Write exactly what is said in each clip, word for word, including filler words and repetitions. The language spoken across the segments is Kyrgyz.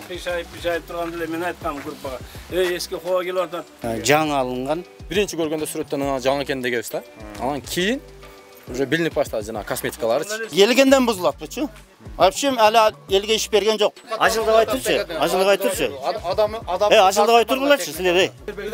пишайып пишайып турганда эле мен айткам группага. Эй, эски коо келип атат. Жаңы алынган. Биринчи көргөндө сүрөттөн жаңы экен дегенбиз да. Анан кийин уже билинип баштады жана косметикаларчы. Келгенден бузулат бучу. Вообще али элге иш берген жок. Ажылдабай турчу. Ажылдабай турчу. Адам адам Э, ажылдабай тургулачы силер, эй.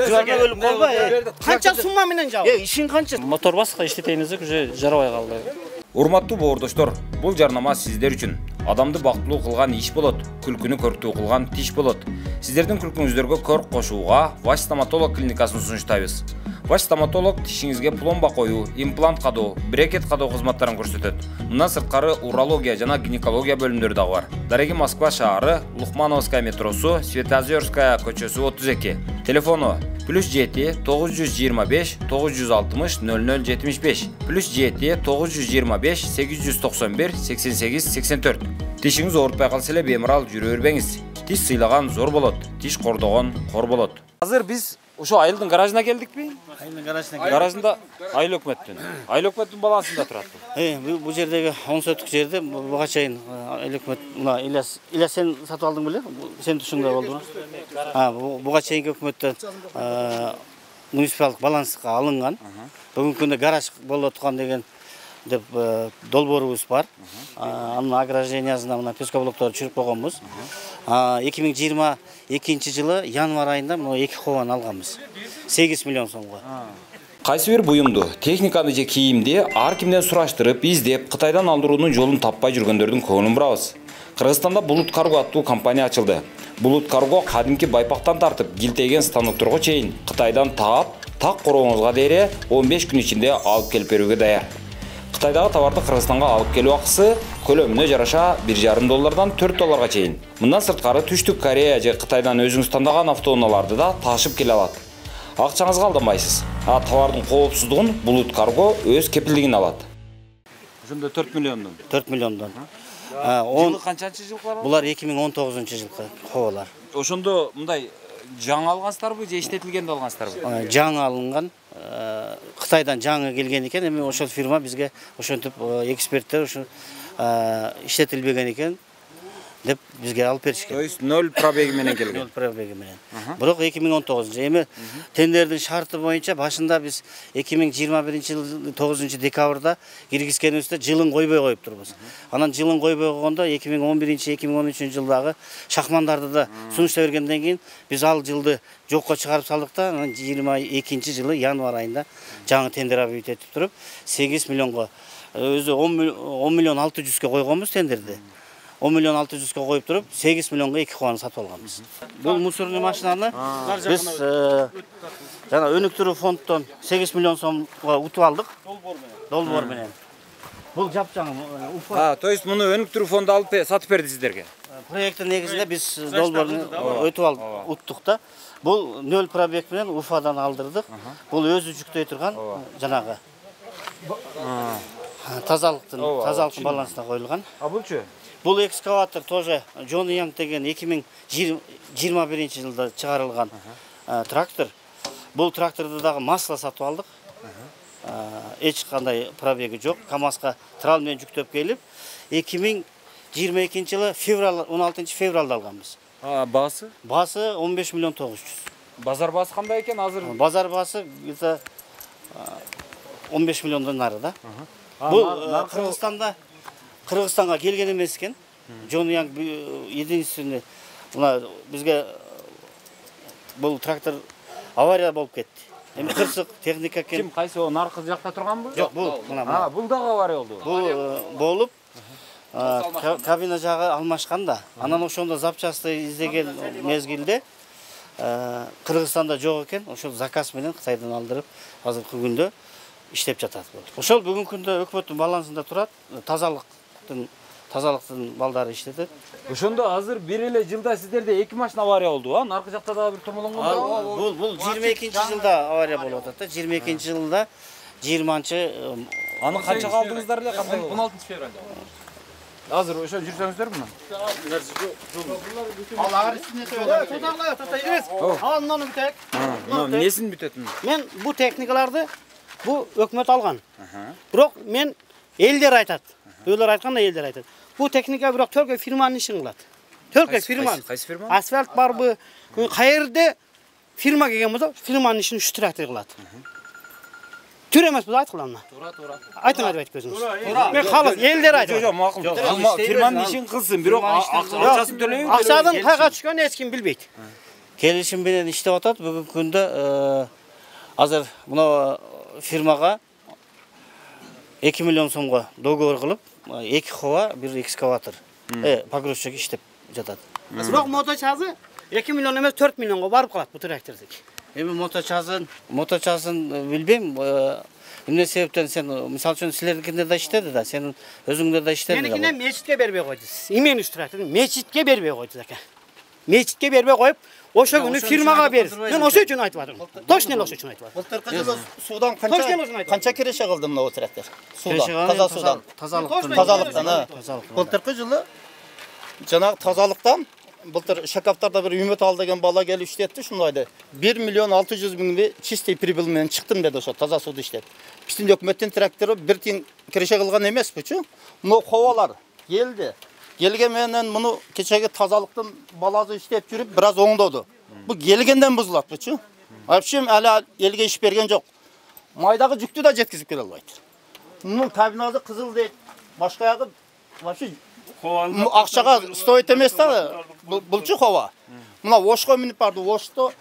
Жуарга өлүп калбай. Канча сумма менен жабы? Э, ишиң канча? Мотор баска иштетейин десек уже жарабай калды. Урматтуу боордоштор, бул жарнама сиздер үчүн. Адамды бактылуу кылган иш болот, күлкүнү көрктүү кылган тиш болот. Сиздердин күлкүңүздөргө көрк кошууга Ваш стоматолог клиникасын сунуштайбыз. Ваш стоматолог тишиңизге пломба коюу, имплант кадоо, брекет кадоо кызматтарын көрсөтөт. Мындан сырткары урология жана гинекология бөлүмдөрү дагы бар. Дареги Москва шаары, Лухмановская метросу, Светозерская көчөсү отуз эки. Телефону плюс жети тогуз жүз жыйырма беш тогуз жүз алтымыш ноль ноль жетимиш беш, плюс жети тогуз жүз жыйырма беш сегиз жүз токсон бир сексен сегиз сексен төрт. Тишиңиз оорутпай калса эле бемарал жүрө бербеңиз. Тиш сыйлаган зор болот, тиш кордогон кор болот. Азыр биз ошо айылдын гаражына келдикпи? Айылдын гаражына. Гаражында айыл өкмөттүн. Айыл өкмөттүн балансында турат. Э, бул жердеги он соток жерде буга чейин айыл өкмөт мына Ильяс Ильяс сен сатып алдың беле? Сен тушуңда болдуңбу? А, буга чейинки өкмөттөн муниципалдык баланска алынган. Бүгүнкү күндө гараж болуп аткан деген деп долбоорубуз бар. Анын ограждениясына мына пескоблокторду чүрүп койгонбуз. эки миң жыйырма экинчи жылы январь айында мына эки кобан алганбыз. сегиз миллион сомго. Кайсы бир буюмду, техниканы же кийимди ар кимден сураштырып, издеп, Кытайдан алдыруунун жолун таппай жүргөндөрдүн көңүлүн бурабыз. Кыргызстанда Булут Карго аттуу компания ачылды. Булут Карго кадимки байпактан тартып, килтейген станокторго чейин Кытайдан таап, так корооңузга дейре он беш күн ичинде алып келип берүүгө даяр. Кытайдагы товарды Кыргызстанга алып келүү акысы көлөмүнө жараша бир жарым доллардан төрт долларга чейин. Мындан сырткары Түштүк Корея же Кытайдан өзүңүз тандаган автоунааларды да ташып келе алат. Акчаңызга алданбайсыз. А товардын коопсуздугун Булут Карго өз кепилдигине алат. Ошондо төрт миллиондон. төрт миллиондон. Жылы канчанчы жылкы? Булар эки миң он тогузунчу жылкы кобалар. Ошондо мындай жаңы алгансыздарбы же иштетилгенди алгансыздарбы? Жаңы алынган. Кытайдан жаңы келген экен, эми ошол фирма бизге ошентип эксперттер ошо иштетилбеген экен деп бизге алып беришкен. То есть ноль пробеги менен келген. ноль пробеги менен. Бирок эки миң он тогузунчу эми тендердин шарты боюнча башында биз эки миң жыйырма биринчи жылдын тогузунчу декабрда киргизгенибизде жылын койбой коюп турбуз. Анан жылын койбой койгондо эки миң он биринчи эки миң он үчүнчү жылдагы шахмандарды да сунуштап бергенден кийин биз ал жылды жокко чыгарып салдык да, анан жыйырма экинчи жылы январь айында жаңы тендер объявить этип туруп сегиз миллионго өзү он миллион алты жүзгө койгонбуз тендерди. он миллион алты жүзгө коюп туруп сегиз миллионго эки кобаны сатып алганбыз. Бул мусорный машинаны биз жана өнүктүрүү фонддон сегиз миллион сомго утуп алдык. Долбоор менен. Бул жапжаңы Уфа. А, то есть муну өнүктүрүү фонду алып сатып берди сиздерге. Проекттин негизинде биз долбоорду өтүп алдык, уттук да. Бул ноль пробег менен Уфадан алдырдык. Бул өзү жүктөй турган жанагы тазалыктын тазалыктын балансына коюлган. А булчу? Бул экскаватор тоже Джон Янг деген эки миң жыйырма биринчи жылда чыгарылган трактор. Бул тракторду дагы масло сатып алдык. Эч кандай пробеги жок. КамАЗга трал менен жүктөп келип, эки миң жыйырма экинчи жылы февраль он алтынчы февралда алганбыз. А, баасы? Баасы он беш миллион тогуз жүз. Базар баасы кандай экен азыр? Базар баасы где-то он беш миллиондон нары да. Бул Кыргызстанда Кыргызстанга келген эмес экен. Джон Янг единственный мына бизге бул трактор авария болуп кетти. Эми кырсык техника экен. Ким кайсы о наркы жакта турганбы? Жок, бул мына. А, бул дагы авария болду. Бул болуп кабина жагы алмашкан да. Анан ошондо запчасты издеген мезгилде Кыргызстанда жок экен. Ошол заказ менен Кытайдан алдырып азыркы күндө иштеп жатат. Ошол бүгүнкү күндө өкмөттүн балансында турат. Тазалыктын тазалыктын балдары иштетет. Ошондо азыр бир эле жылда сиздерде эки машина авария болду, а? Наркы жакта дагы бир томолонгон. Бул бул жыйырма экинчи жылда авария болуп атат да. жыйырма экинчи жылда жыйырманчы аны канчага алдыңыздар эле кандай? он алтынчы февралда. Азыр ошо жүрсөңүздөрбү? Ал агырсыны тойлар. Тотаглай, тотайбыз. Андан бүтөк. Несин бүтөт? Мен бу техникаларды бу өкмөт алган. Бирок мен элдер айтат. Өйлөр айтканда элдер айтат. Бу техника бирок төркөй фирманын ишин кылат. Только фирма. Кайсы фирма? Асфальт барбы? Кайерде фирма келген болсо, фирманын ишин үч трактор кылат. Түр эмес бул айткыламна. Туура, туура. Айтыңар деп айткөзүңүз. Мен халык элдер айтат. Жок, макул. Фирманын ишин кылсын, бирок акчасын төлөйбү. Акчадан кайга түшкөнүн эч ким билбейт. Келишим менен иштеп атат. Бүгүнкү күндө азыр мына фирмага эки миллион сомго договор кылып, эки хова, бир экскаватор, э, погрузчик иштеп жатат. Бирок моточазы эки миллион эмес төрт миллионго барып калат бул трактордук. Эми моточазын, моточазын билбейм. Эмне себептен сен, мисалы үчүн силердикинде да иштеди да, сен өзүңдө да иштеди да. Меникине мечитке бербей койду. Имен үч трактор мечитке бербей койду ака. Мечитке бербей коюп, ошо күнү фирмага берди. Мен ошо үчүн айтып атам. Точно ошо үчүн айтып атам. Былтыркы жылы судан канча канча киреше кылды мына трактор? Судан, таза судан. Тазалыктан. Тазалыктан. Былтыркы жылы жанагы тазалыктан былтыр Шакаптарда бир Үмөт ал деген бала келип иштетти, ушундайды. бир миллион алты жүз миңди чистый прибыль менен чыктым деди ошо таза сууду иштеп. Биздин өкмөттүн трактору бир тиң киреше кылган эмеспичи? Мына ховалар келди. Келген менен муну кечеги тазалыктын баласы иштеп жүрүп бир аз оңдоду. Бу келгенден бузулатпычы? Вообще ала элге иш берген жок. Майдагы жүктү да жеткизип келе албайт. Мунун кабинасы кызыл дейт. Башка ягы вообще акчага стоит эмес да. Булчу хова. Мына Ошко минип барды. Ошто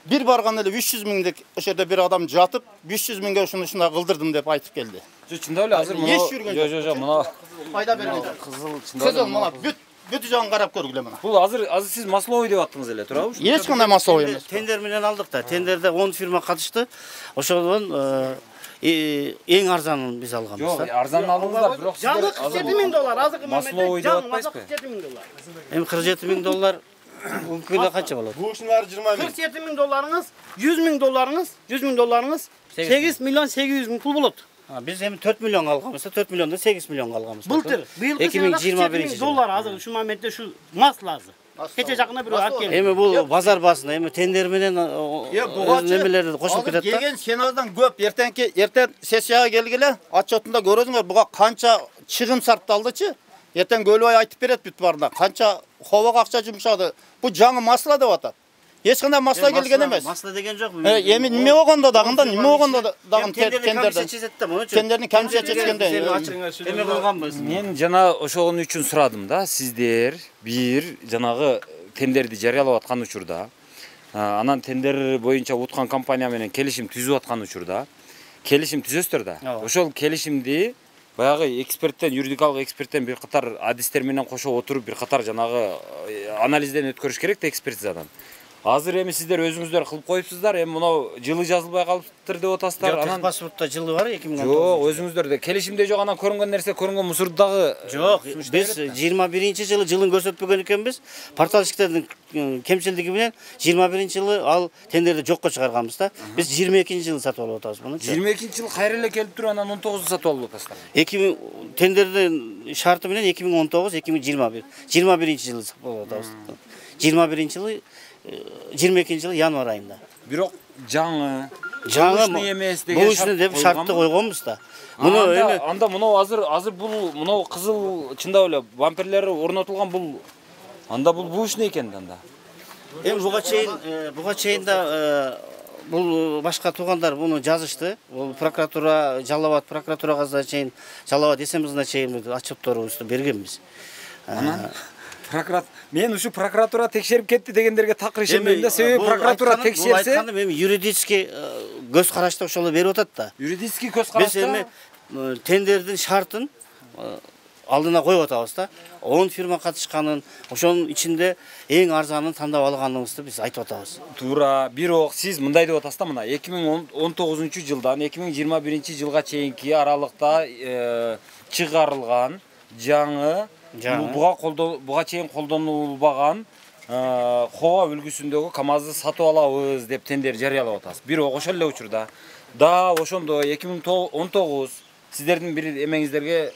бир барган эле үч жүз миңдик ошо жерде бир адам жатып, беш жүз миңге ушуну ушундай кылдырдым деп айтып келди. Жо, чындап эле азыр мына жо жо жо мына пайда берген жок. кызыл чындап эле мына бүт бүт жагын карап көргүлө мына. Бул азыр азыр сиз масловый деп аттыңыз эле, туурабы? Эч кандай масловый эмес. Тендер менен алдык да. Тендерде он фирма катышты. Ошодон эң арзанын биз алганбыз. Жок, арзан алдыңыздар, бирок сиздер кырк жети миң доллар, азыркы масловый деп атпайсызбы? кырк жети миң доллар. Эми кырк жети миң доллар күндө канча болот? Бу ушунун баары жыйырма миң. кырк жети миң долларыңыз, жүз миң долларыңыз, жүз миң долларыңыз сегиз миллион сегиз жүз миң пул болот. Биз эми төрт миллион алганбыз, төрт миллиондон сегиз миллионго алганбыз. Былтыр, быйылкы эки миң жыйырма биринчи доллар азыр ушул моментте ушу масласы. Кече жакында бирөө алып келди. Эми бул базар баасына, эми тендер менен немелерди кошулуп кетет да. Келген сеназдан көп, эртеңки эртең сессияга келгиле, отчетунда көрөсүңөр буга канча чыгым сарпталдычы? Эртең Көлбай айтып берет бүт барына. Канча ховага акча жумшады. Бу жаңы масла деп атат. Эч кандай масла келген эмес. Масла деген жок. Эми неме болгондо дагында, неме болгондо дагы тендерден. Тендердин комиссия чечкенде. Эме кылганбыз. Мен жана ошогон үчүн сурадым да, сиздер бир жанагы тендерди жарыялап аткан учурда, анан тендер боюнча уткан компания менен келишим түзүп аткан учурда, келишим түзөсүздөр да. Ошол келишимди баягы эксперттен, юридикалык эксперттен бир катар адистер менен кошо отуруп бир катар жанагы анализден өткөрүш керек да, экспертизадан. Азыр эми сиздер өзүңүздөр кылып коюпсуздар, эми мынау жылы жазылбай калыптыр деп атасыздар. Анан паспортто жылы бар эки миң он тогуз. Жок, өзүңүздөрдө келишимде жок, анан көрүнгөн нерсе, көрүнгөн мусорду дагы жок. Биз жыйырма биринчи жылы жылын көрсөтпөгөн экенбиз. Порталчиктердин кемчилдиги менен жыйырма биринчи жылы ал тендерди жокко чыгарганбыз да. Биз жыйырма экинчи жылы сатып алып атабыз муну. жыйырма экинчи жылы кайра эле келип туруп анан он тогузду сатып алып атасыздар. эки миң тендердин шарты менен эки миң он тогуз эки миң жыйырма бир жыйырма биринчи жылы сатып алып атабыз. жыйырма биринчи жылы жыйырма экинчи жылы январь айында. Бирок жаңы жаңы эмес деген шарт деп шартты койгонбуз да. Муну эми анда мынау азыр азыр бул мынау кызыл чындап эле бамперлери орнотулган бул анда бул бул иш не экен анда? Эми буга чейин буга чейин да бул башка туугандар буну жазышты. Бул прокуратура, Жалал Абад прокуратурага да чейин, Жалал Абад эсемизине чейин отчетторубузду бергенбиз. Анан прокурат мен ушу прокуратура текшерип кетти дегендерге такыр ишенбейм да. Себеби прокуратура текшерсе, айтканым эми юридический көз карашта ошол берип атат да. Юридический көз карашта биз эми тендердин шартын алдына коюп атабыз да. он фирма катышканын, ошонун ичинде эң арзанын тандап алганыбызды биз айтып атабыз. Туура, бирок сиз мындай деп атасыз да, мына эки миң он тогузунчу жылдан эки миң жыйырма биринчи жылга чейинки аралыкта чыгарылган жаңы буга колдон буга чейин колдонулбаган хова үлгүсүндөгү КАМАЗды сатып алабыз деп тендер жарыялап атасыз. Бирок ошол эле учурда да ошондо эки миң он тогуз сиздердин бир эмеңиздерге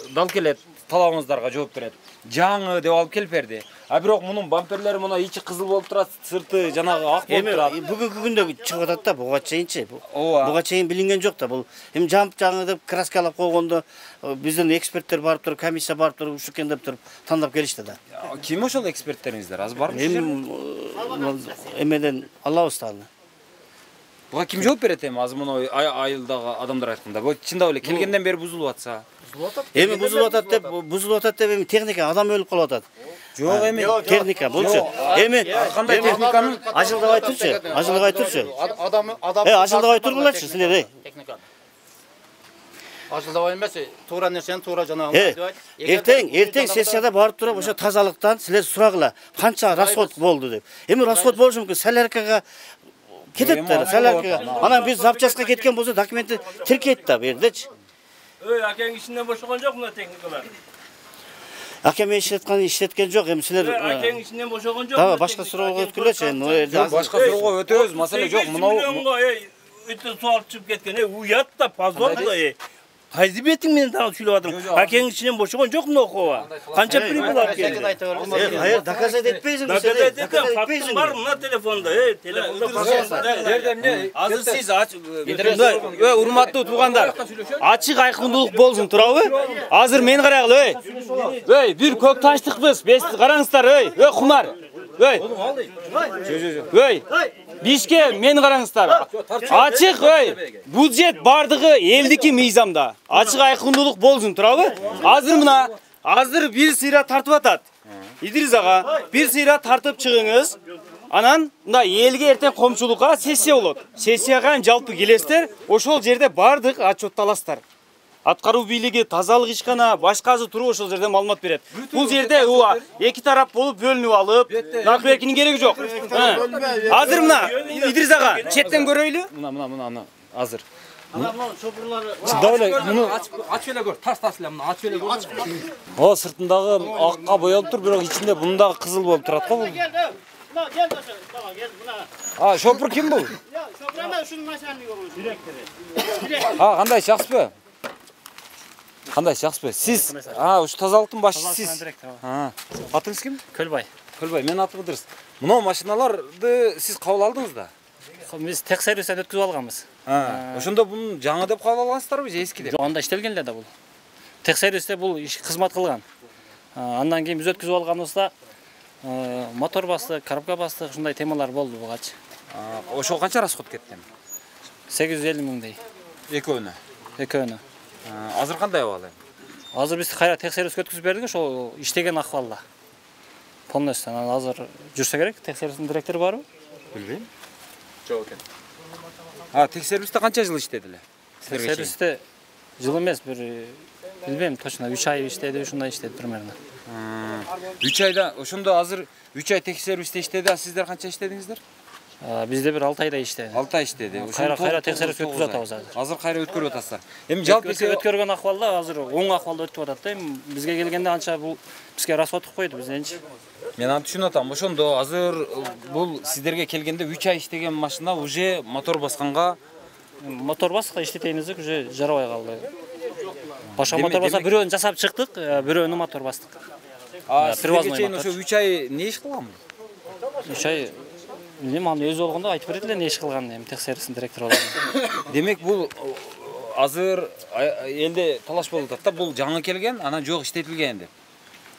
дал келет, талабыңыздарга жооп берет. Жаңы деп алып келип берди. А бирок мунун бамперлери мына ичи кызыл болуп турат, сырты жанагы ак болуп турат. Эми бүгүнкү күндө чыгып атат да, буга чейинчи. Ооба. Буга чейин билинген жок да. Бул эми жамп жаңы деп краскалап койгондо биздин эксперттер барып туруп, комиссия барып туруп, ушу экен деп туруп тандап келишти да. Ким ошол эксперттериңиздер? Азыр барбы? Эми эмеден алабыз да аны. Буга ким жооп берет эми? Азыр муну айылдагы адамдар айтканда, бу чындап эле келгенден бери бузулуп атса. Эми бузулуп атат деп, бузулуп атат деп эми техника адам өлүп калып атат. Жок эми техника булчу. Эми кандай техниканын ажылдабай турчу, ажылдабай турчу. Адам адам Э, ажылдабай тургулачы силер, эй. Ажылдабай эмес, туура нерсени туура жанагы Э, эртең, эртең сессияда барып туруп ошо тазалыктан силер сурагыла, канча расход болду деп. Эми расход болушу мүмкүн, соляркага кетет да, соляркага. Анан биз запчастка кеткен болсо документти тиркейт да бу жердечи. Ой, акең ичинен бошогон жок мына техникалар. Акем иштеткан иштеткен жок, эми силер Акең ичинен бошогон жок. дагы башка суроого өткүлөчү эми. башка суроого өтөбүз, маселе жок. Мынау өтө суал чыгып кеткен. Э, уят да, позор да. э. Кайсы бетиң менен дагы сүйлөп атырмын. Акең ичинен бошогон жок мына окуга. Канча прибыл алып келди. Э, кайер доказать этпейсиң сен. Доказать этем, фактым бар мына телефонда. Э, телефонда бар. Азыр сиз ой, урматтуу туугандар, ачык айкындуулук болсун туурабы? Азыр мен карагыла, ой. Ой, бир көк таштыкпыз. Бес караңыздар, ой. Ой, кумар. Ой. Ой. Бишке мен караңыздар. Ачык, ой. Бюджет бардыгы элдики мыйзамда. Ачык айкындуулук болсун туурабы? Азыр мына, азыр бир сыйра тартып атат. Идрис ага, бир сыйра тартып чыгыңыз. Анан мына элге эртең коомчулукка сессия болот. Сессияга жалпы келесиздер, ошол жерде бардык отчетталасыздар. Аткаруу бийлиги, тазалык ишкана, башкасы туруп ошол жерде маалымат берет. Бул жерде уа эки тарап болуп бөлүнүп алып, накыбекинин кереги жок. Азыр мына Идрис ага четтен көрөйлү. мына мына мына азыр. Анан шопурлары Чындап эле муну Ачып эле көр, таш-таш эле мына ачып эле көр. о сыртындагы акка боелуп тур, бирок ичинде мунун дагы кызыл болуп турат го бул. Мына кел ошо, тамам кел мына. А, шопур ким бул? Шопур ана ушунун начальниги директори. А, кандай жакшысызбы? Кандай жакшысызбы? Сиз, а, ушу тазалыктын башчысы сиз. А, атыңыз ким? Көлбай. Көлбай, мен атым Ыдырыс. Мына машиналарды сиз кабыл алдыңыз да? Биз текшерүүстөн өткүзүп алганбыз. А, ошондо буну жаңы деп кабыл алгансыздарбы же эски деп? Жок, анда иштелген эле да бул. Текшерүүстө бул иш кызмат кылган. Андан кийин биз өткүзүп алганыбызда мотор бастык, коробка бастык, ушундай темалар болду бугачы. Ошол канча расход кетти? сегиз жүз элүү миңдей. Экөөнө. Экөөнө. Азыр кандай абал эми? Азыр биз кайра текшерүүгө өткүзүп бердик, ошол иштеген акыбалда. Полностью анан азыр жүрсө керек. Текшерүүнүн директору барбы? Билбейм. Жок экен. А, текшерүүстө канча жыл иштеди эле? Текшерүүстө жыл эмес, бир билбейм, точно үч ай иштеди, ушундай иштеди примерно. үч айда, ошондо азыр үч ай текшерүүстө иштеди, а сиздер канча иштедиңиздер? Бизде бир алты айда иштеди. алты ай иштеди. Кайра кайра текшерүүгө өткүзүп атабыз азыр. Азыр кайра өткөрүп атасыздар. Эми жалпы өткөргөн акыбалда азыр оң акыбалда өтүп атат да. Эми бизге келгенде анча бул бизге расходтук койду бизденчи. Мен аны түшүнүп атам. Ошондо азыр бул сиздерге келгенде үч ай иштеген машина уже мотор басканга, мотор басканга иштетейинизик уже жарабай калды. Башка мотор баса бирөөнү жасап чыктык, бирөөнү мотор бастык. А сизге чейин ошо үч ай не иш кылган? үч ай билем, аны өзү болгондо айтып берет эле не иш кылганын, эми текшерүүсүнүн директору болгондо. Демек бул азыр элде талаш болуп атат да, бул жаңы келген, анан жок иштетилген деп.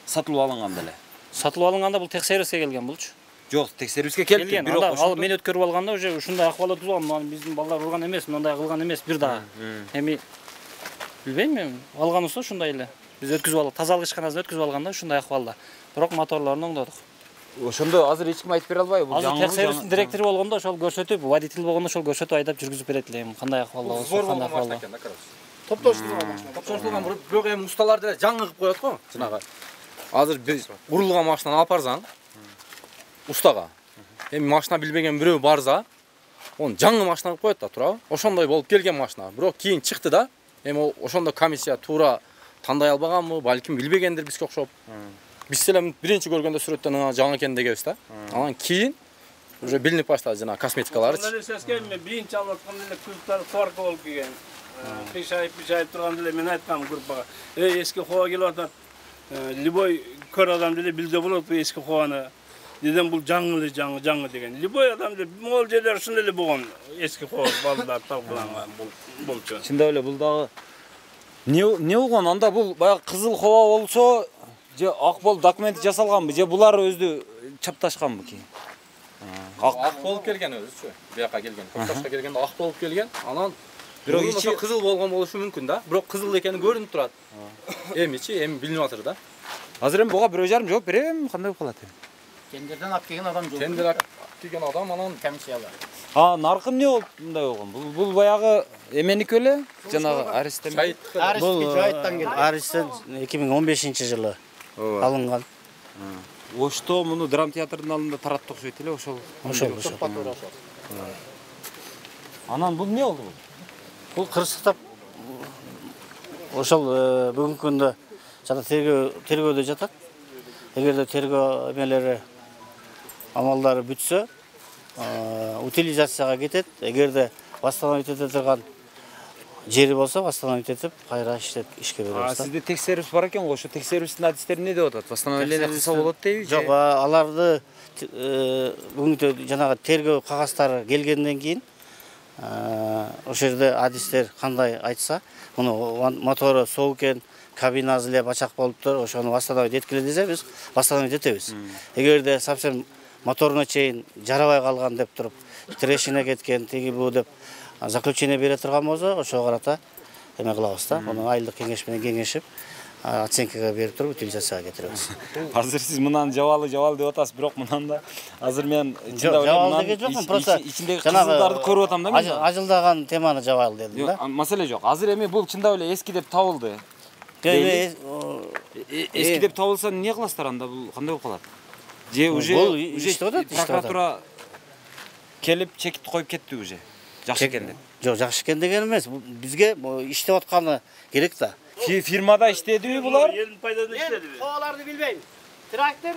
Сатылып алынган деле. Сатылып алынганда бул текшерүүгө келген булчу. Жок, текшерүүгө келген, бирок ал мен өткөрүп алганда уже ушундай акыбал өткүзгөн, мына биздин балдар урган эмес, мындай кылган эмес бир дагы. Эми билбейм мен, алганыбыз ушундай эле. Биз өткүзүп алдык, тазалык ишканасына өткүзүп алганда ушундай акыбалда. Бирок моторлорун оңдодук. Ошондо азыр эч ким айтып бере албайбы? Бул жаңы текшерүүнүн директору болгондо ошол көрсөтүп, водитель болгондо ошол көрсөтүп айдап жүргүзүп берет эле, эми кандай акыбалда болсо, кандай акыбалда. Топтоштурган машина. Топтоштурган, бирок эми усталар деле жаңы кылып коет го, жанагы. Азыр биз урулган машинаны алып барсаң, устага. Эми машина билбеген бирөө барса, он жаңы машина кылып коет да, туурабы? Ошондой болуп келген машина. Бирок кийин чыкты да. Эми ошондо комиссия туура тандай албаганбы, балким билбегендир бизге окшоп. Биз эле биринчи көргөндө сүрөттөн ана жаңы экен дегенбиз да. Анан кийин уже билинип баштады жана косметикаларычы. Мына сескем мен биринчи алып атканда эле кыздар сварка болуп келген. Беш ай, беш ай турганда эле мен айткам группага. Эй, эски хоо келип атат. Любой көр адам деле билде болот бу эски кубаны. Неден бул жаңы эле жаңы жаңы деген. Любой адам деле могул жерлер ушундай эле болгон эски куба балдар талкууланган болчу. Чындап эле бул дагы не не болгон анда бул баягы кызыл коба болсо же ак болуп документи жасалганбы же булар өзү чапташканбы кийин? Ак болуп келген өзүчү. Бияка келген. Токташка келгенде ак болуп келген. Анан бирок ичи кызыл болгон болушу мүмкүн да. Бирок кызыл экени көрүнүп турат. Эмичи, эми билинип атыр да. Азыр эми буга бирөө жарым жооп берем, кандай болуп калат эми? Тендерден алып келген адам жок. Тендер алып келген адам анан комиссиялар. А, наркы эмне болуп мындай болгон? Бул бул баягы эменики беле? Жанагы Аристен. Бул жайыттан келген. Аристен эки миң он бешинчи жылы алынган. Ошто муну драм театрдын алдында таратты окшойт эле, ошол. Ошол ошол. Анан бул эмне болду бул? Бул кырсыктап ошол бүгүнкү күндө жана тергөө тергөөдө жатат. Эгерде тергөө эмелери амалдары бүтсө, утилизацияга кетет. Эгерде восстановить эте турган жери болсо, восстановить этип, кайра иштеп ишке беребиз. А сизде текшерүүс бар экен го, ошо текшерүүстүн адистери эмне деп атат? Восстановление кылса болот дейби? Жок, аларды бүгүнкү жанагы тергөө кагаздары келгенден кийин ошол жерде адистер кандай айтса, муну мотору соо экен, кабинасы эле бачак болуптур, ошону восстановить эткиле десе биз восстановить этебиз. Эгерде совсем моторуна чейин жарабай калган деп туруп, трещина кеткен, тиги бу деп заключение бере турган болсо, ошого карата эме кылабыз да. Муну айылдык кеңеш менен кеңешип, оценкага берип туруп утилизацияга кетиребиз. Азыр сиз мындан жабалы жабалы деп атасыз, бирок мындан да азыр мен жабалы деген жокмун, просто ичиндеги кызылдарды көрүп атам да мен. Ажылдаган теманы жабалы дедим да. Маселе жок. Азыр эми бул чындап эле эски деп табылды. Эски деп табылса эмне кыласыздар анда? Бул кандай болуп калат? Же уже уже прокуратура келип чекит коюп кетти уже. Жакшы экен деп. Жок, жакшы экен деген эмес. Бизге иштеп атканы керек да. Фирмада иштедиби булар? Элдин пайдасына иштедиби? Мен кабаларды билбейм. Трактор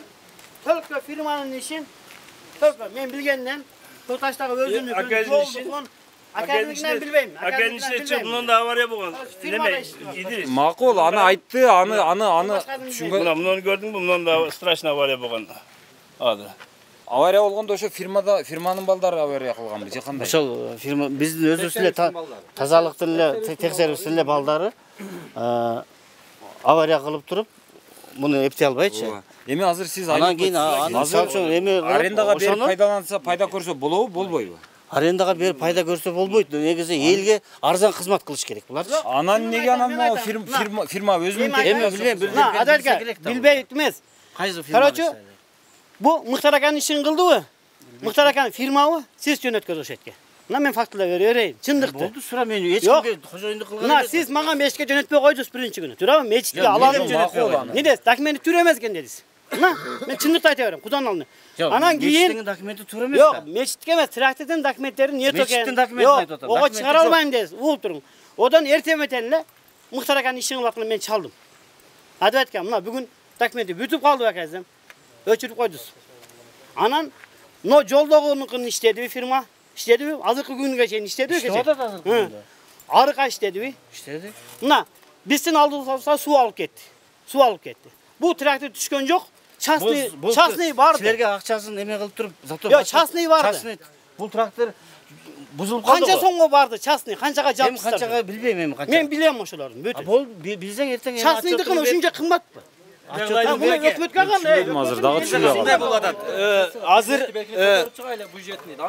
только фирманын ишин, только мен билгенден Токташтагы өзүнүн ишин академикинен билбейм. Академикинен чыгып мында авария болгон. Неме? Идирис. Макул, аны айтты, аны аны аны түшүнгөн. Муну көрдүңбү? Мында страшный авария болгон. Азыр. Авария болгондо ошо фирмада фирманын балдары авария кылганбы же кандай? Ошол фирма биздин өзүбүз эле тазалыктын эле текшерүүсүн эле балдары авария кылып туруп муну эптей албайчы. Эми азыр сиз анан кийин азыр эми арендага берип пайдаланса, пайда көрсө болобу, болбойбу? Арендага берип пайда көрсө болбойт. Негизи элге арзан кызмат кылыш керек буларчы. Анан эмнеге анан могу фирма фирма өзүнүн эми билбейм, билбейм. Билбейт эмес. Кайсы фирма? Короче, бу Мыктар аканын ишин кылдыбы? Мыктар акан фирмабы? Сиз жөнөткөз ошо жерге. Мына мен фактылар берейин. Чындыкты. Болду, сура мен эч кимге кожоюндук кылган. Мына сиз мага мечитке жөнөтпөй койдуңуз биринчи күнү. Туурабы? Мечитке аламын жөнөтпөй. Не десиз? Документи туура эмес экен дедиз. Мына мен чындыкты айта берем, Кудан алдында. Анан кийин мечиттин документи туура эмес да. Жок, мечитке эмес, трактордун документтерин нет экен. Мечиттин документин айтып атам. Ого чыгара албайм дедиз. Угуп туруң. Одан эртең менен эле Мыктар аканын ишин кылып атканда мен чалдым. Айтып айткам, мына бүгүн документи бүтүп калды бакайсым. Өчүрүп койдуз. Анан но жолдогунукун иштедиби фирма? Иштедиби? Азыркы күнгө чейин иштедиби? Иштеп атат азыркы күндө. Арыка иштедиби? Иштеди. Мына биздин алдыбызга суу алып кетти. Суу алып кетти. Бул трактор түшкөн жок. Частный частный барды. Силерге акчасын эме кылып туруп, зато Жок, частный барды. Частный бул трактор бузулуп калды. Канча сомго барды частный? Канчага жапсыздар? Эми канчага билбейм эми канча. Мен билем ошолорду. Бүтүн. Бул билсең эртең эми частныйдыкын ушунча кымбатпы? Өкмөткө кандай? Азыр дагы түшүнбөй болуп атат. Азыр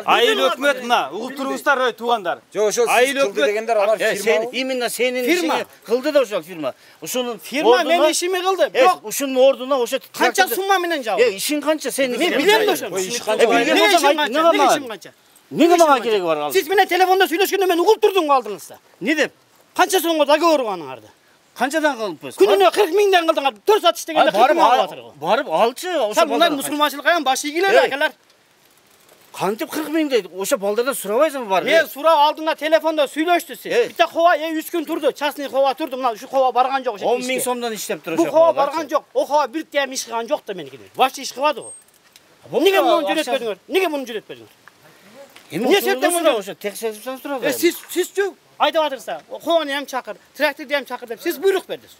айыл өкмөт мына угуп туруңуздар, ой туугандар. Жок, ошол айыл өкмөт дегендер алар фирма. Именно сенин ишиңи кылды да ошол фирма. Ушунун фирма менин ишими кылды. Бирок ушунун ордуна ошо канча сумма менен жабы? Э, ишиң канча сенин? Мен билем да ошону. Иш канча? Эмне ишим канча? Эмне мага кереги бар ал? Сиз менен телефондо сүйлөшкөндө мен угуп турдум алдыңызда. Не деп? Канча сомго договор аныңарды? Канчадан кылыппыз? Күнүнө кырк миңден кылдыңар. төрт саат иштегенде кырк миң алып атыр. Барып алчы, ошо мындай мусулманчылыкка ям башы ийгилер акалар. Кантип кырк миң дейт? Ошо балдардан сурабайсыңбы бар? Мен сурап алдыңа телефондо сүйлөштү сиз. Бите кова э үч күн турду. Частный кова турду. Мына ушу кова барган жок ошо. он миң сомдон иштеп тур ошо. Бу кова барган жок. О кова бир тем иш кылган жок да меники. Вообще иш кылбады го. Эмнеге муну жөнөтпөдүңөр? Эмнеге муну жөнөтпөдүңөр? Эмне себептен муну ошо текшерип сурабайбы? Э сиз сизчү айтып атырсыздар. Кованы ham чакыр, тракторду ham чакыр деп сиз буйрук бердиңиз.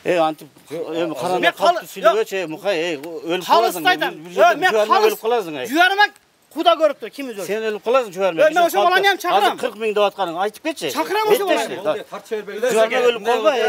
Э, антип эми караңда калып сүйлөгөчү, мукай, э, өлүп каласың. Мен өлүп каласың. Жуарыма куда көрүп тур, ким өзү? Сен өлүп каласың жуарыма. Мен ошо баланы ham чакырам. кырк миң деп атканың, айтып кетчи. Чакырам ошо баланы. Тартыша бербей. Жуарыма өлүп калба, э.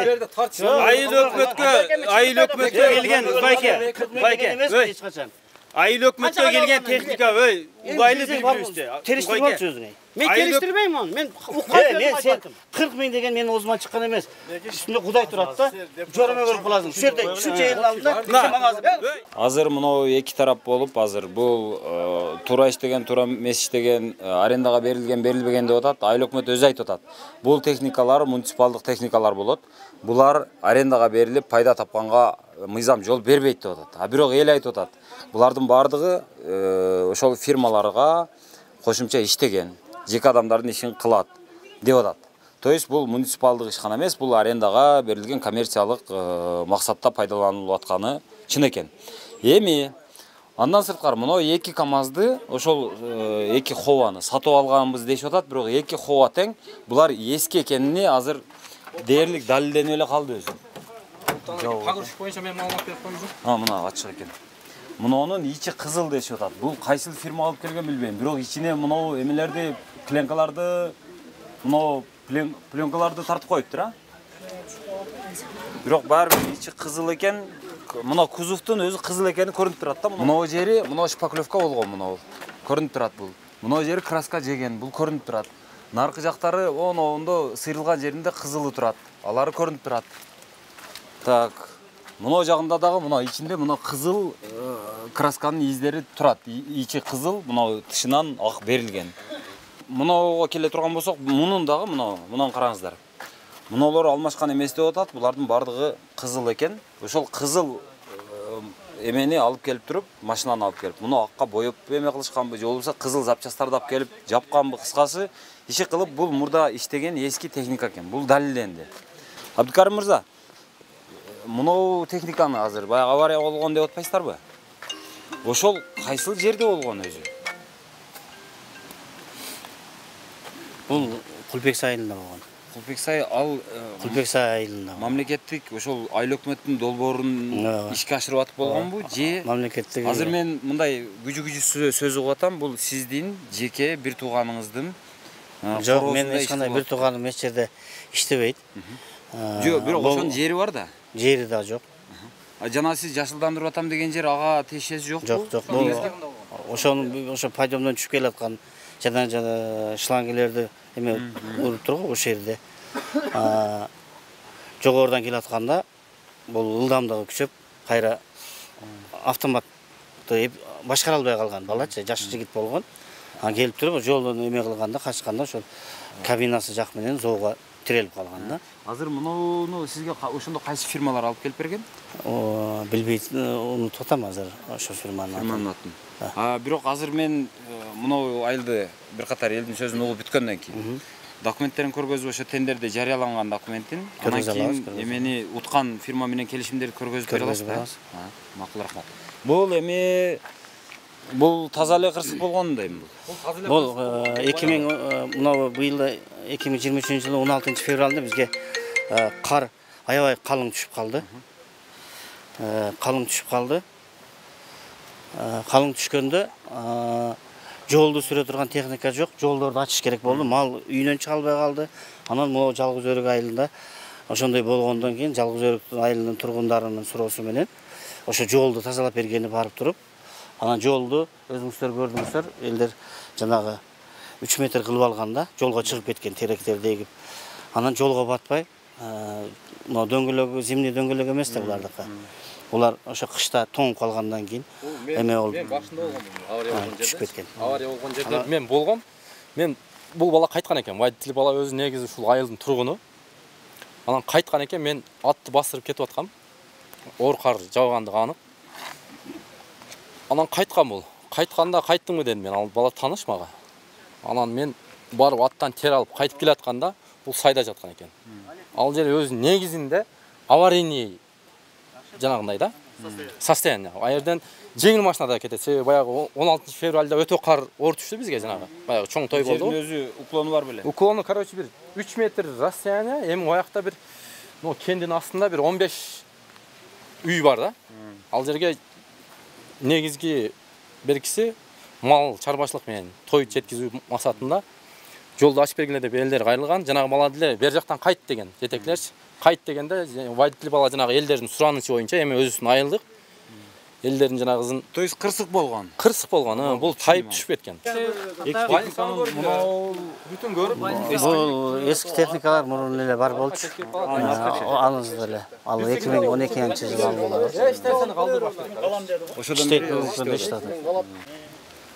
Айыл өкмөткө, айыл өкмөткө келген байке, байке, эч качан. айыл өкмөткө келген техника, өй, угайлы бири-бирибизде. Териштирип алчу өзүңө. Мен келиштирбейм аны. Мен уккан сөзүм. кырк миң деген менин оозуман чыккан эмес. Үстүндө Кудай турат да. Жуарыма өлүп каласың. Ушул жерде, ушул жердин алдында Азыр мынау эки тарап болуп, азыр бул туура иштеген, туура эмес иштеген, арендага берилген, берилбеген деп атат. Айыл өкмөт өзү айтып атат. Бул техникалар муниципалдык техникалар болот. Булар арендага берилип, пайда тапканга мыйзам жол бербейт деп атат. А бирок эл айтып атат. Булардын бардыгы ошол фирмаларга кошумча иштеген, жеке адамдардын ишин кылат деп атат. То есть бул муниципалдык ишкана эмес, бул арендага берилген коммерциялык максатта пайдаланылып атканы чын экен. Эми андан сырткары мына эки КАМАЗды, ошол эки хованы сатып алганбыз дешип атат, бирок эки хова тең булар эски экенини азыр дээрлик далилденип эле калды өзү. Погрузчик боюнча мен маалымат берип коюмчу. А, мына ачык экен. Мунунун ичи кызыл дешип атат. Бул кайсыл фирма алып келген билбейм, бирок ичине мына эмелерди, пленкаларды, мына пленкаларды тартып коюптур, а? Бирок баары бир ичи кызыл экен. Мына кузовтун өзү кызыл экени көрүнүп турат да. Мына жери, мына шпаклевка болгон, мына көрүнүп турат бул. Мына жери краска жеген, бул көрүнүп турат. Наркы жактары он-ондо сыйрылган жеринде кызылы турат. Алары көрүнүп турат. Так, мына жагында дагы мына ичинде мына кызыл красканын издери турат. Ичи кызыл, мына тышынан ак берилген. Мынага келе турган болсок, мунун дагы мына, мунан караңыздар. Мыналар алмашкан эмес деп атат. Булардын бардыгы кызыл экен. Ошол кызыл эмени алып келип туруп, машинаны алып келип, муну акка боёп эме кылышканбы, же болбосо кызыл запчасттарды алып келип жапканбы, кыскасы иши кылып бул мурда иштеген эски техника экен. Бул далилденди. Абдыкарим мырза, мынау техниканы азыр баягы авария болгон деп атпайсыздарбы? Ошол кайсыл жерде болгон өзү? Бул Кулбексай айылында болгон. Кулбексай ал Кулбексай айылында. Мамлекеттик ошол айыл өкмөттүн долбоорун ишке ашырып атып болгонбу же мамлекеттик? Азыр мен мындай күжү-күжү сөз угуп атам, бул сиздин жеке бир тууганыңыздын. Жок, мен эч кандай бир тууганым эч жерде иштебейт. Жок, бирок ошонун жери бар да. Жери да жок. А жана сиз жашылдандырып атам деген жер ага тиешеси жокпу? Жок, жок. Бул ошону ошо пайдомдон түшүп келаткан жана жана шлангелерди эме уруп тургу ошол жерде. Жогорудан келатканда бул ылдамдыгы күчөп, кайра автоматты башкара албай калган балачы, жаш жигит болгон. А келип туруп жолдон эме кылганда, качканда ошол кабинасы жак менен зоого тирелип калган да. Азыр муну сизге ошондо кайсы фирмалар алып келип берген? О, билбейт, унутуп атам азыр ошо фирманын атын. Фирманын атын. А бирок азыр мен мына айылды бир катар элдин сөзүн угуп бүткөндөн кийин документтерин көргөзүп, ошо тендерде жарыяланган документтин, андан кийин эмени уткан фирма менен келишимдерди көргөзүп бере аласызбы? Макул, рахмат. Бул эми бул таза эле кырсык болгондойм бул. Бул эки миң мына быйыл эки миң жыйырма үчүнчү жылы он алтынчы февралда бизге кар аябай калың түшүп калды. Калың түшүп калды. Калың түшкөндө жолду сүрө турган техника жок, жолдорду ачыш керек болду. Мал үйүнөн чыга албай калды. Анан могу Жалгыз Өрүк айылында ошондой болгондон кийин Жалгыз Өрүк айылынын тургундарынын суроосу менен ошо жолду тазалап бергени барып туруп, анан жолду өзүңүздөр көрдүңүздөр, элдер жанагы үч метр кылып алганда жолго чыгып кеткен теректерди эгип. Анан жолго батпай, мына дөңгөлөгү зимний дөңгөлөк эмес да булардыкы. Булар ошо кышта тоңуп калгандан кийин эме болду. Мен башында болгом, авария болгон жерде. Түшүп кеткен. Авария болгон жерде мен болгом. Мен бул бала кайткан экен. Водитель бала өзү негизи ушул айылдын тургуну. Анан кайткан экен, мен атты басырып кетип аткам. Оор кар жаугандыгы анык. Анан кайткан бул. Кайтканда кайттыңбы дедим мен, ал бала таныш мага. Анан мен барып аттан тер алып кайтып келатканда бул сайда жаткан экен. Ал жер өзү негизинде аварийный жанагындай да. Состояние. А жерден жеңил машинада кетет. Себеби баягы он алтынчы февралда өтө кар оор түштү бизге жанагы. Баягы чоң той болду. Жердин өзү уклону бар беле? Уклону, короче, бир үч метр расстояние, эми оякта бир Но кендин астында бир он беш үй бар да. Ал жерге негизги беркиси мал чарбачылык менен той жеткизүү максатында жолду ачып бергиле деп элдер кайрылган. Жанагы бала деле бер жактан кайт деген жетекчилерчи. Кайт дегенде водитель бала жанагы элдердин суранычы боюнча эми өзүбүздүн айылдык элдердин жанагысын. То есть кырсык болгон. Кырсык болгон. Бул тайып түшүп кеткен. Мынау бүтүн көрүп, Бул эски техникалар мурун эле бар болчу. Анысы эле. Ал эки миң он экинчи жылы алынган. ошодон бери иштеди.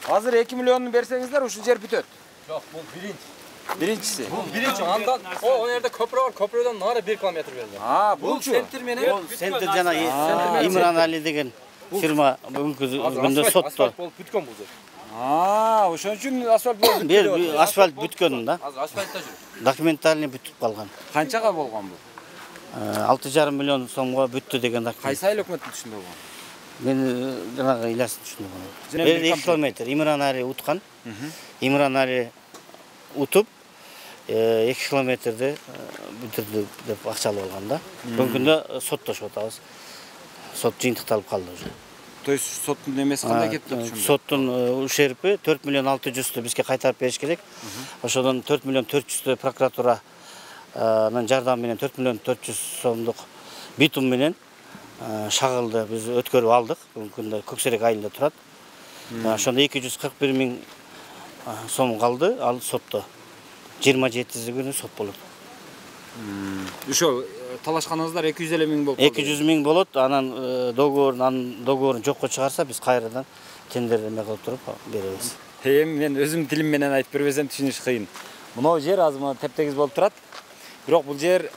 Азыр эки миллионну берсеңиздер ушул жер бүтөт. Жок, бул биринчи. Биринчиси. Бул биринчи. Андан о жерде көпүрө бар, көпүрөдөн нары бир километр берилген. А, булчу. Центр менен. Бул центр жана Имран Али деген фирма бүгүнкү күндө сотто. Болуп бүткөн бул жер. А, ошон үчүн асфальт болуп бүткөн. Бир асфальт бүткөн да. Азыр асфальтта жүр. Документальный бүтүп калган. Канчага болгон бул? алты жарым миллион сомго бүттү деген документ. Кайсы айыл өкмөттүн түшүндө болгон? Мен жанагы Ильястын түшүндө болгон. эки километр Имран Али уткан. Имран Али утуп эки километрди бүтүрдү деп акчалып алган да. Бүгүнкү күндө соттошуп атабыз. Сот жыйынтыкталып калды уже. То есть соттун эмеси кандай кетти ошондо? Соттун ушерпи төрт миллион алты жүздү бизге кайтарып бериш керек. Ошодон төрт миллион төрт жүздү прокуратуранын жардамы менен төрт миллион төрт жүз сомдук битум менен шагылды биз өткөрүп алдык. Бүгүнкү күндө Көксерек айылында турат. Ошондо эки жүз кырк бир миң сом калды, ал сотто. жыйырма жетиси күнү сот болот. Ошол талашканыңыздар эки жүз элүү миң болуп. эки жүз миң болот. Анан договорун, анын договорун жокко чыгарса биз кайрадан тендер эме кылып туруп беребиз. Эми мен өзүм тилим менен айтып бербесем түшүнүш кыйын. Мынау жер азыр мына тептегиз болуп турат. Бирок бул жер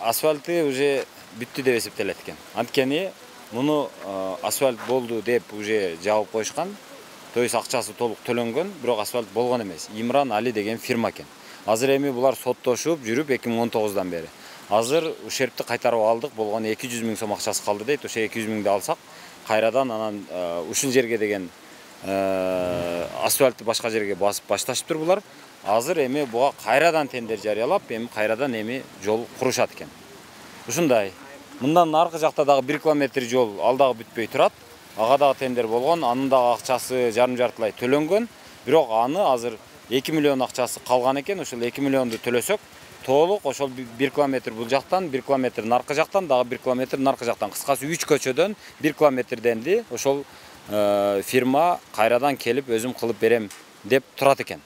асфальты уже бүттү деп эсептелет экен. Анткени муну асфальт болду деп уже жабып коюшкан. То есть акчасы толук төлөнгөн, бирок асфальт болгон эмес. Имран Али деген фирма экен. Азыр эми булар соттошуп жүрүп эки миң он тогуздан бери. Азыр ушерпти кайтарып алдык, болгон эки жүз миң сом акчасы калды дейт. Ошо эки жүз миңди алсак, кайрадан анан ушул жерге деген асфальтты башка жерге басып башташыптыр булар. Азыр эми буга кайрадан тендер жарыялап, эми кайрадан эми жол курушат экен. Ушундай. Мындан аркы жакта дагы бир километр жол ал дагы бүтпөй турат. Ага дагы тендер болгон, анын дагы акчасы жарым жартылай төлөнгөн. Бирок аны азыр эки миллион акчасы калган экен. Ошол эки миллионду төлөсөк, толук ошол бир километр бул жактан, бир километр наркы жактан, дагы бир километр наркы жактан. Кыскасы үч көчөдөн бир километрденди ошол фирма кайрадан келип өзүм кылып берем деп турат экен.